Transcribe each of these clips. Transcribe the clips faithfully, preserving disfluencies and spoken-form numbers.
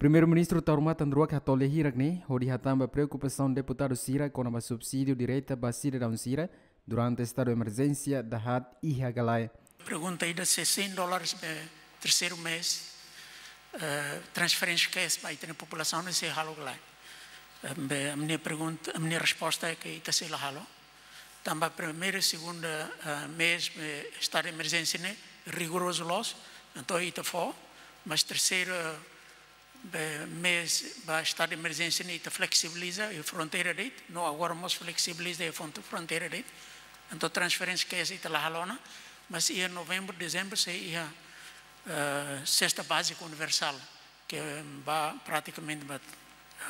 Primeiru-Ministru Taur Matan Ruak hato'o lia hirak ne'e hodi hatán ba preokupasaun deputadu sira kona-ba subsídiu direta ba sidadaun sira durante estadu emerjénsia dahaat iha Galae. Pergunta ida se cem dólares be terceiro mês, eh, transferência cash ba ita-nia populasaun ne'e sei halo ka lae. Eh, be, a minha pergunta, a minha resposta é que ita sei la halo. Tanba primeiru, segundu, eh, mês, eh, estadu emerjénsia ne'e rigorozu loos, entaun ita fó, mas terceira, eh, mês ba estadu emerjénsia ne'e ita fleksibiliza iha fronteira de'it, no agora mós fleksibiliza iha fron-, fronteira de'it. Entaun transferência cash ita la halo ona, mas iha novembru, dezembru sei iha, eh, sesta bázika universál, ke ba pratikamente ba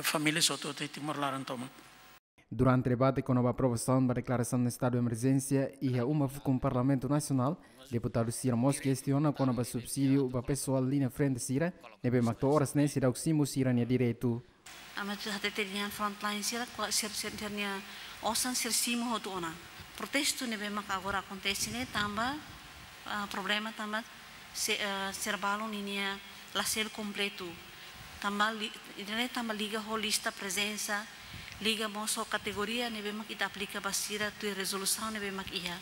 família hotu-hotu iha Timor laran tomak. Durante debate kona-ba aprovasaun ba deklarasaun estadu emerjénsia iha uma fukun Parlamentu Nasionál, deputadu sira mós kestiona kona-ba subsídiu ba pesoál liña frente sira, ne'ebé mak to'o oras ne'e seidauk simu sira-nia direitu. Ami atu hatete dehan frontline sira, kua-, sir-, sir-, sira-nia osan sira simu hotu ona. Protestu ne'ebé mak agora akontese ne'e tanba, ah, problema tanba se-, eh, sira balun ninia la selu kompletu. Tanba li-, ida-ne'e tanba liga ho lista prezensa, liga mós ho kategoria ne'ebé mak ita aplika ba sira tuir rezolusaun ne'ebé mak iha.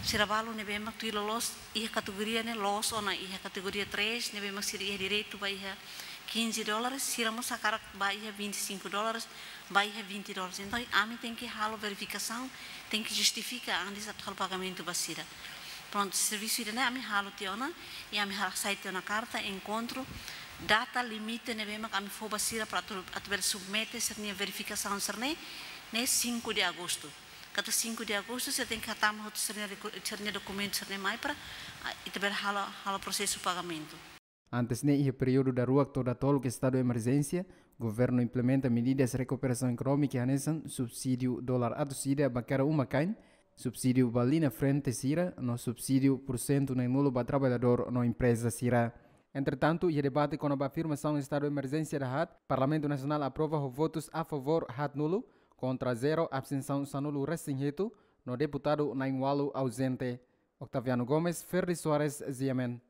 Sira balun ne'ebé mak tuir loloos iha kategoria ne'e loos ona iha kategoria três ne'ebé mak sira iha direitu ba iha quinze dólares, sira mós hakarak ba iha vinte e cinco dólares, ba iha vinte dólares. Entaun, ami tenke halo verifikasaun, tenke justifika antes atu halo pagamentu ba sira. Prontu, servisu ida-ne'e ami halo tiha ona, i ami hasai tiha ona karta, enkontru, data limite ne'ebé mak ami fó ba sira para atu, atu bele submete sira-nia verifikasaun sira-ne'e, ne'e cinco de agosto. Katak cinco de agosto, sira tenke hatama hotu sira-nia reku-, sira-nia dokumentu sira-ne'e mai para, ah, ita bele halo, halo prosesu pagamentu. Antes ne'e, iha períodu daruak to'o datoluk estadu emerjénsia, governu implementa medidas rekuperasaun ekonómika hanesan subsídiu dolar atus ida ba kada uma-kain, subsídiu ba liña frente sira, no subsídiu pursentu na'in-nulu ba traballadór no empreza sira. Entretantu, iha debate kona-ba afirmasaun estadu emerjénsia dahaat, Parlamentu Nasionál aprova ho votus a favór haatnulu, kontra zero, abstensaun sanulu-resin-hitu, no deputadu na'in-ualu auzente. Octaviano Gomes, Ferdi Soares, G M N.